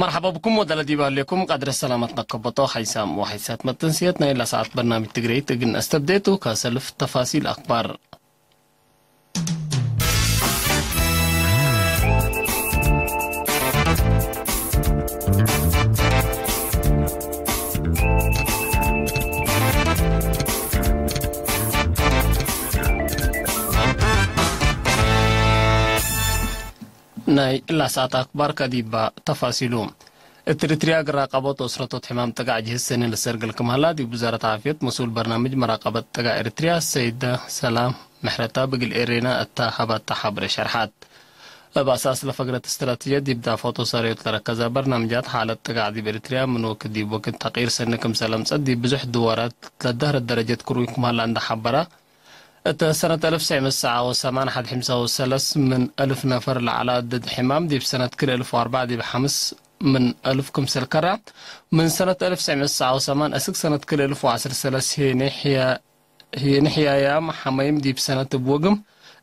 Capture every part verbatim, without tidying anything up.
መርሐባ ብኩም ወደለ ዲብ ሀሌኩም ቀድረ ሰላመት ነከበጦ ሐይሳም ወሐይሳት መተንስየት ናይ ለሰዓት በርናምጅ ትግረይት እግል ነአስተብዴ ቱ። ከሰልፍ ተፋሲል አክባር። ናይ እላ ሰዓት አክባር ከዲባ ተፋሲሉ። እት ኤሪትርያ እግል ራቀቦት ወእስረቶት ሕማም ጥጋዕ ጅህዝ ሰኒ ለሰርግል ክም ሀላ፣ ዲብ ውዛረት ዓፍየት መስኡል በርናምጅ መራቀበት ጥጋዕ ኤሪትርያ ሰይደ ሰላም ምሕረታብ እግል ኤሬና እተ ሀበተ ሐብሬ ሸርሐት። እብ አሳስ ለፈግረት እስትራቲጅየት ዲብ ዳፈት ወሳርዮት ለረከዘ በርናምጃት፣ ሓለት ጥጋዕ ዲብ ኤሪትርያ ምን ወክድ ዲብ ወክድ ተቅይር ሰኒ ክምሰል አምጸት፣ ዲብ ብዙሕ ድዋራት ለደህረት ደረጀት ክሩይ ክም ሀላ እንደ ሐበረ፣ እተ ሰነት አልፍ ትሰዕ ምእት ሰብዓ ወሰማን ሐድ ሕምሳ ወሰለስ ምን አልፍ ነፈር ለዐለ ድድ ሕማም፣ ዲብ ሰነት ክልኤ አልፍ ወአርበዕ ዲብ ሐምስ ምን አልፍ ክምሰል ከረ፣ ምን ሰነት አልፍ ትሰዕ ምእት ሰብዓ ወሰማን አስክ ሰነት ክልኤ አልፍ ወዐስር ወሰለስ ሄኔ ሕያ-፣ ሄኔ ሕያያም ሐመይም ዲብ ሰነት እብ ወግም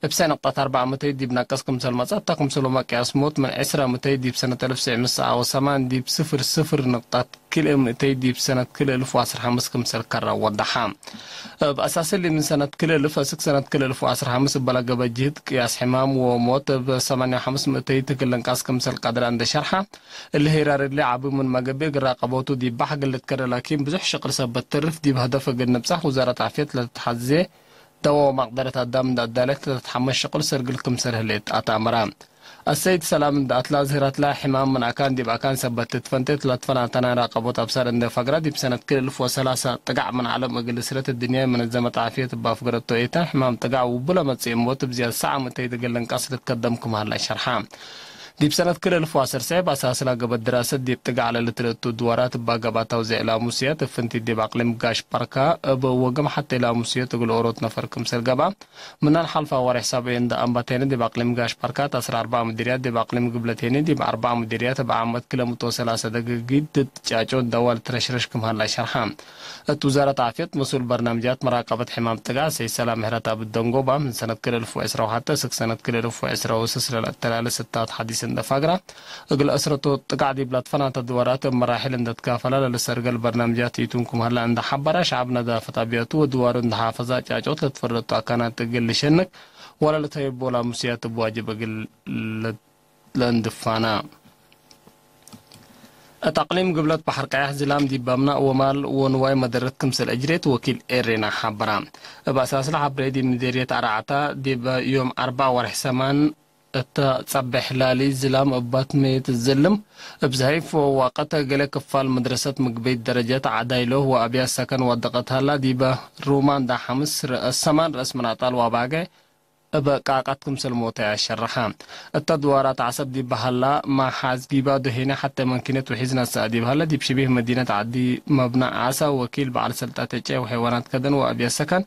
እብ ሰዕ ንቅጠት አርበዕ ምእተይ ዲብ ነቅስ ክምሰል መጽአ፣ እተ ክምሰልሁመ ቅያስ ሞት ምን ዕስረ ምእተይ ዲብ ሰነት አልፍ ትሰዕ ምእት ሰብዓ ወሰማን ዲብ ስፍር ስፍር ንቅጠት ክልኤ ምእተይ ዲብ ሰነት ክልኤ አልፍ ወዐስር ሐምስ ክምሰል ከረ ወደሐ። እብ አሳስ እሊ ምን ሰነት ክልኤ አልፍ አስክ ሰነት ክልኤ አልፍ ወዐስር ሐምስ እበ ለገብአ ጅህድ ቅያስ ሕማም ወሞት እብ ሰማንያ ወሐምስ ምእተይ እግል ልንቀስ ክምሰል ቀድረ እንደ ሸርሐ፣ እሊ ሄራር እሊ ዐቢ ምንመ ገብእ እግል ራቀቦቱ ዲብ በሕ እግል ልትከረ ላኪን ብዙሕ ሽቅል ሰበት ተርፍ ዲብ ሀደፍ እግል ንብጸሕ ውዛረት ዓፍየት ለትትሐዜ ደወ ወመቅደረት አዳም እንደ አዳለት ለትትሐመስ ሽቅል ሰርግል ክምሰል ህሌት አትአመረ። አሰይድ ሰላም እንደ አትላ ዝህረትላ ሕማም ምን አካን ዲብ አካን ሰበት ትትፈንቴት ለትፈናተና ራቀቦት አብሳር እንደ ፈግራ፣ ዲብ ሰነት ክል እልፍ ወሰላሳ ጥጋዕ ምን ዐለም እግል እስረት እድንያይ መነዘመት ዓፍየት እብ አፍገረቶ ኤተ፣ ሕማም ጥጋዕ ውቡ ለመጽእ ሞት እብ ዝያድ ሰዓ ምእተይ እግል ልንቀስ ልትከደም ክም ሀላ ሸርሐ። ዲብ ሰነት ክል እልፍ ወዐሰርተ ሰዕ በአሳስላ ገበት ድራሰት ዲብ ጥጋዕ ለልትለቱ ድዋራት እባ ገብአት አውዜዕ ላሙስየት፣ እብ ፍንቲት ዲብ አቅሊም ጋሽ ባርካ እብ ወግም ሐቴ ላሙስየት እግል ኦሮት ነፈር ክምሰል ገብአ፣ ምናል ሐልፋ ወሬሕ ሰብዒ እንደ አንበቴነ ዲብ አቅሊም ጋሽ ባርካ ተአስር አርበዕ ምዲርያት፣ ዲብ አቅሊም ግብለቴኒ ዲብ አርበዕ ምዲርያት እብ ዓመት ክለ ምእት ወሰላሰ ደገጊት ድድ ጫጮ ደዋ ልትረሽረሽ ክም ሀላ ሸርሐ። እት ውዛረት ዓፍየት መስኡል በርናምጃት መራቀበት ሕማም ጥጋዕ ሰይድ ሰላም ምህረት አብ ደንጎባ፣ ምን ሰነት ክል እልፍ ወዕስራ ወሐቴ እስክ ሰነት ክል እልፍ ወዕስራ ወስስ ለለአተላለ ስታት ሐዲስ እንደ ፋግራ፣ እግል እስረቱ ጥጋዕ ዲብ ለትፈናተ ድዋራት እብ መራሕል እንደ ትካፈላ ለልሰርገል በርናምጃት ኢቱን ክም ሀላ እንደ ሐበራ፣ ሸዐብ ነዳፈት አብያቱ ወድዋሩ እንደ ሓፈዛ ጫጮት ለትፈረቱ አካናት እግል ልሸንክ ወለልተይቦ ላሙስያት እብ ዋጅብ እግል ለእንድፋና። እት አቅሊም ግብለት በሐር ቀያሕ ዝላም ዲብ አምናእ ወማል ወንዋይ መደረት ክምሰል አጅሬት ወኪል ኤሬና ሐበራ። እብ አሳስለ ሐብሬ ዲብ ምዴርየት አርዓታ ዲብ ዮም አርበዕ ወርሕ ሰማን እተ ጸቤሕ ላሊ ዝላም እባት መየት ዝልም እብ ዘሀይፍ ወዋቀት ገሌ ክፋል መድረሰት ምግበይት ደረጀት ዐዳይሎ ወአብያት ሰከን ወደቀት ሀላ ዲበ ሩማንዳ ሐምስ ረአስ ሰማን ረአስ ምን አጣል ወአባገ እበ ቃቀት ክምሰል ሞተ አሸረሐ። እተ ድዋራት ዐሰብ ዲብ ሀላ፣ ማሓዝ ጊባዶ ሄነ ሐቴ መንኪነት ውሒዝ ነስአ ዲብ ሀለ፣ ዲብ ሽቢህ መዲነት ዐዲ መብነ ዓሰ ወኪል በዐል ሰልጠት ዕጨ ወሐይዋናት ከደን ወአብያት ሰከን፣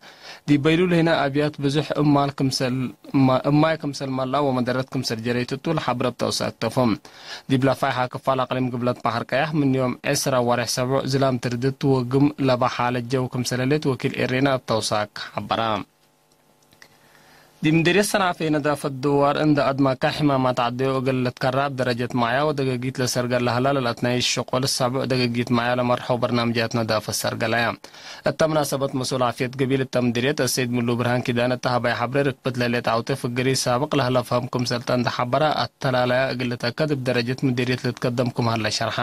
ዲብ በይሉል ሄነ አብያት ብዙሕ እማል ክምሰል፣ እማይ ክምሰል መልአ ወመደረት ክምሰል ጀረይት እቱ ለሐብረብ ተውሳክ ተፎም። ዲብ ለፋይሐ ክፋል አቅሊም ግብለት በሐር ቀያሕ ምን ዮም ዕስራ ወሬሕ ሰብዑ ዝላም ትርድት ወግም ለበ ሓለት ጀው ክምሰል ህሌት ወኪል ኤሬና እብ ተውሳክ ሐበረ። ዲብ ምዴርየት ሰንዓፌ ነዳፈት ድዋር እንደ አድማካ ሕማማት ዐደዮ እግል ልትከራ እብ ደረጀት ማዕያ ወደገጊት ለሰርገል ለሀላ ለልአትናይ ሽቁል ሰብዕ ደገጊት ማዕያ ለመርሐው በርናምጅያት ነዳፈት ሰርገለያ። እተ መናሰበት መስኡል ዓፍየት ገቢል እተ ምዴርየት አሰይድ ምሉ ብርሃን ኪዳነ እተ ሀባይ ሐብሬ ርክብት ለህሌት ዐውቴ ፍግሪ ሳብቅ ለህለ ፈህም ክምሰልተ እንደ ሐበረ፣ አተላለያ እግል ልትአከድ እብ ደረጀት ምዴርየት ልትከደም ክም ሀለ ሸርሐ።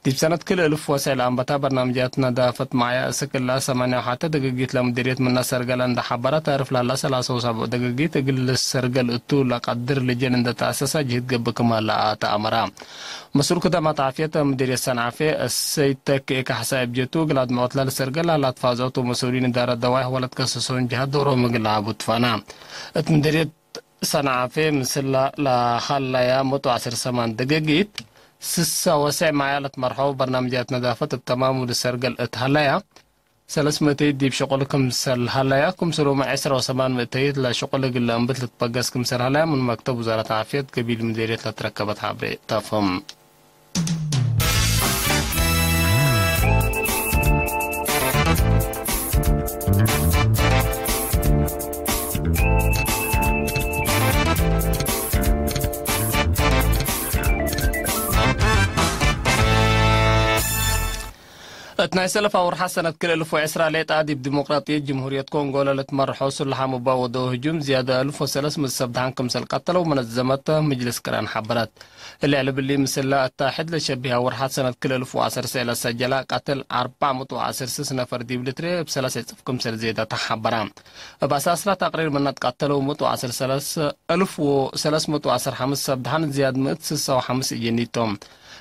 ዲብ ሰነት ክል እልፍ ወሰዕ ለአንበታ በርናምጅያት ነዳፈት ማዕያ እስክ እላ ሰማንያ ወሐቴ ደገጊት ለምዴርየት ምነ ሰርገለ እንደ ሐበረ፣ ተርፍ ለህላ ሰላሳ ወሰብዑ ደገጊት እግል ልሰርገል እቱ ለቀድር ልጀን እንደ ተአሰሰ ጅህድ ገብእ ክም ሀለ አተአመረ። መስኡል ክደማት ዓፍየት ምዴርየት ሰንዓፌ እሰይድ ተኬ ካሕሳይ እብ ጀቱ፣ እግል አድመዖት ለልሰርገል ለህላ ትፋዘኦት ወመስኡሊን እዳረት ደዋይሕ ወለትከሰሶን ጀሀት ዶሮም እግል ለዐቡ ትፋና። እት ምዴርየት ሰንዓፌ ምስላ ለሀለያ መቶ ወዐስር ሰማን ደገጊት፣ ስሳ ወሰዕ ማዕያ ለትመርሐው በርናምጅያት ነዳፈት እብ ተማሙ ልሰርገል እት ሀለያ፣ ሰለስ ምእተይት ዲብ ሽቁል ክምሰል ሀለያ፣ ክምሰልሁመ ዕስራ ወሰማን ምእተይት ለሽቁል እግል ለአንብት ልትበገስ ክምሰል ሀለያ፣ ምን መክተብ ውዛረት ዓፍየት ገቢል ምዴርየት ለትረከበት ሐብሬ ተፍህም። እት ናይ ሰለፋ ወርሓት ሰነት ክልኤ እልፍ ወዕስራ ሌጣ፣ ዲብ ዲሞቅራጥየት ጅምሁርየት ኮንጎ ለልትመርሖ ሱልሓም እባ ወደው ህጁም ዝያድ እልፍ ወሰለስ ምእት ሰብ ደሓን ክምሰል ቀተለው መነዘመት ምጅልስ ቅራን ሐበረት። እሊ ዕልብሊ ምስለ አታሕድ ለሸቢሃ ወርሓት ሰነት ክልኤ እልፍ ወዐሰርሰ ለሰጀላ ቀትል አርበዕ ምእት ወዐሰርሰ ነፈር ዲብ ልትሬ እብ ሰለሰ እጽፍ ክምሰል ዜዳታ ሐበራ። እብ አሳስላ ተቅሪር ምነ ትቀተለው ምእት ወዐስር ሰለስ እልፍ ወሰለስ ምእት ወዐስር ሐምስ ሰብ ደሓን ዝያድ ምእት ስሳ ወሐምስ እጅኒቶም።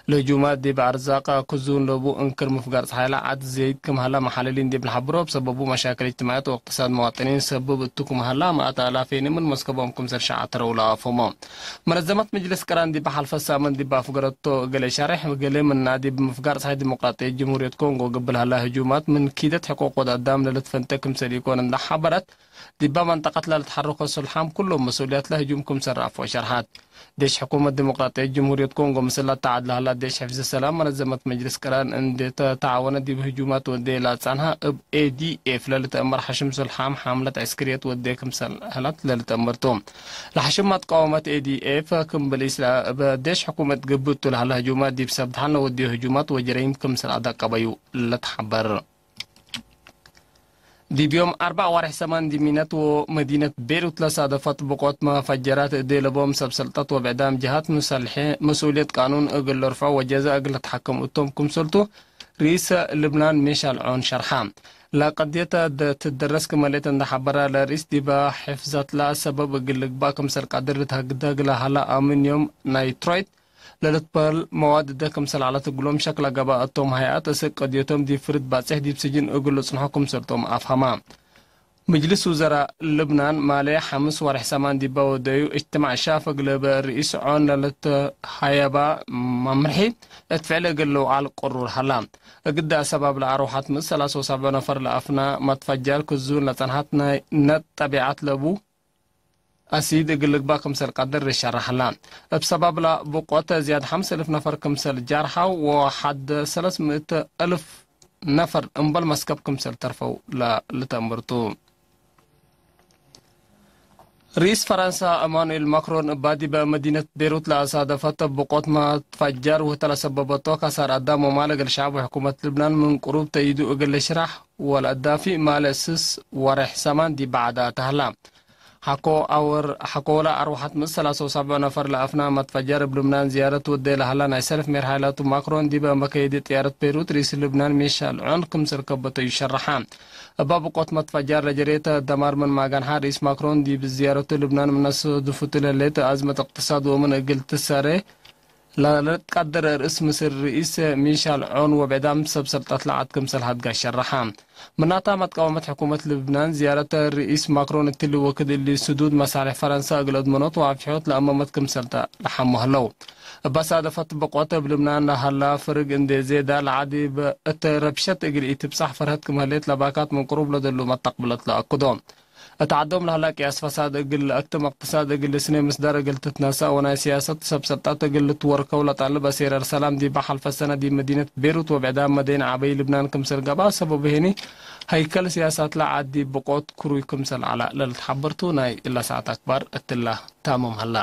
ለህጁማት ዲብ አርዛቅ ክዙን ለቡ እንክር ምፍጋር ጸሓይለ ዐድ ዘይድ ክም ሀላ መሓለሊን ዲብ ለሐብሮ፣ እብ ሰበቡ መሻክል እጅትማዕየት ወእቅትሳድ መዋጥኒን ሰብብ እቱ ክም ሀላ፣ መአት አላፌኒ ምን መስከቦም ክምሰል ሸዐተረው ለአፎሞ። መነዘመት መጅልስ ቅራን ዲብ ሐልፈ ሳምን ዲብ አፍገረቶ እግል ሸሬሕ፣ እግል ምና ዲብ ምፍጋር ጸሓይ ዲሞቅራጥየት ጅምሁርየት ኮንጎ ግብል ሀላ ህጁማት ምን ኪደት ሕቁቅ ወድ አዳም ለልትፈንተ ክምሰል ኢኮን እንዳ ሐበረት፣ ዲባ መንጠቀት ለልትሐረኮ ሱልሓም ኩሎም መስኡልያት ለህጁም ክምሰል ረአፎ ሸርሐት። ዴሽ ሕኩመት ዲሞቅራጥየት ጅምሁርየት ኮንጎ ምስል ለተዓድ ለሀላ ዴሽ ሕፍዝ ሰላም መነዘመት መጅልስ ቅራን እንዴ ተተዓወነ ዲብ ህጁማት ወዴ ለአጻንሀ እብ ኤ ዲ ኤፍ ለልትአመር ሐሽም ሱልሓም ሐምለት ዐስክርየት ወዴ ክምሰል ሀላት ለልትአመር ቱ። ለሐሽም መትቃወመት ኤ ዲ ኤፍ ክም ብሊስ እብ ዴሽ ሕኩመት ግብእ ቱ ለሀላ ህጁማት ዲብ ሰብ ደሓን ለወድዮ ህጁማት ወጀረይም ክምሰል አዳቀበዩ ለትሐበር። ዲብ ዮም አርበዕ ወሬሕ ሰማን ዲብ ሚነት ወመዲነት ቤሩት ለሳደፈት ብቆት መፈጀራት እዴ ለቦም ሰብ ሰልጠት ወብዕዳም ጀሃት ሙሰልሐ መስኡልየት ቃኑን እግል ለርፍዖ ወጀዘ እግል ልትሐከም እቶም ክምሰልቱ ርኢሰ ልብናን ሜሻል ዖን ሸርሐ። ለቀድየት ትደረስ ክመሌት እንደ ሐበረ ለርኢስ ዲበ ሕፍዘትላ ሰበብ እግል ልግባእ ክምሰል ቀድር ልትሀግደግ ለሀላ አሚንዮም ናይትሮይት ለልትበህል መዋድ እደ ክምሰል ዐለት እግሎም ሸክ ለገብአ እቶም ሀይአት እስክ ቀድዮቶም ዲብ ፍርድ ባጽሕ ዲብ ስጅን እግል ልጽንሖ ክምሰልቶም አፍሀማ። ምጅልስ ውዘራእ ልብናን ማሌ ሐምስ ወሬሕ ሰማን ዲበ ወደዩ እጅትማዕ ሻፍግ ለበ ርኢስ ዖን ለልትሀየባ መምርሒ እት ፍዕል እግል ልውዓል ቅሩር ሀላ። እግደ አሰባብ ለአርወሐት ምእት ሰላሳ ወሰብዕ ነፈር ለአፍና መትፈጀር ክዙን ለጸንሐት ናይ ነት ጠቢዐት ለቡ አሲድ እግል ልግባእ ክምሰል ቀድር ልሸረሕ ሀላ። እብ ሰባብላ ብቆት ዝያድ ሐምስ እልፍ ነፈር ክምሰል ጃርሐው ወሐድ ሰለስ ምእት እልፍ ነፈር እምበል መስከብ ክምሰል ተርፈው ለልተአምር ቱ። ርኢስ ፈረንሳ እማኑኤል ማክሮን እባ ዲበ መዲነት ቤሩት ለአሳደፈት ብቆት መትፈጀር ውህተ ለሰበበቶ ከሳር አዳም ወማል እግል ሸዐብ ወሕኩመት ልብናን ምን ቅሩብ ተእይዱ እግል ልሽራሕ ወለአዳፊእ ማለ ስስ ወሬሕ ሰማን ዲብ ዐዳ ተህላ። ሐቆ አወር ሐቆለ አርወሐት ምእት ሰላሳ ወሰብዕ ነፈር ለአፍና መትፈጀር እብ ልብናን ዝያረት ወዴ ለሀላ ናይ ሰልፍ ሜርሓይላቱ ማክሮን ዲበ መከየዲ ጥያረት ቤሩት ርኢስ ልብናን ሚሻል ዖን ክምሰል ከበተዩ ሸረሐ። እባ ብቆት መትፈጀር ለጀሬተ ደማር ምን ማጋንሐ ርኢስ ማክሮን ዲብ ዝያረቱ ልብናን ምነ ሰዱፉቱ ለሌት አዝመት እቅትሳድ ወምን እግል ትሰሬ ለልትቀድር ርእስ ምስል ርኢስ ሚሻል ዖን ወብዕዳም ሰብ ሰልጠት ለዐድ ክምሰል ሀድጋ ሸረሐ። ምናታ መትቃወመት ሕኩመት ልብናን ዝያረት ርኢስ ማክሮን እትሊ ወክድ እሊ ስዱድ መሳልሕ ፈረንሳ እግል አድመኖት ወአፍሕዮት ለአመመት ክምሰል ተ ለሐሙ ህለው። እበ ሳደፈት ብቆት እብ ልብናን ለሀላ ፍርግ እንዴ ዜዳ ለዐድ እት ረብሸት እግል ኢትብጻሕ ፈርሀት ክም ህሌት ለባካት ምን ቅሩብ ለደሉ መተቅብለት ለአክዶ። እት ዐዶም ለሀላ ቅያስ ፈሳድ እግል ለአክትም፣ እቅትሳድ እግል ልስኔ፣ ምስዳር እግል ትትነሰእ ወናይ ስያሰት ሰብ ሰልጠት እግል ልትወርከው ለጠልብ አሴረር ሰላም ዲበ ሐልፈ ሰነ ዲብ መዲነት ቤሩት ወብዕዳም መደይን ዐበይ ልብናን ክምሰል ገብአ። ሰበቡ ሄኒ ሀይከል ስያሳት ለዐድ ዲብ ብቆት ክሩይ ክምሰል ዐለ ለልትሐበር ቱ። ናይ እለ ሰዓት አክባር እትላ ታምም ሀላ።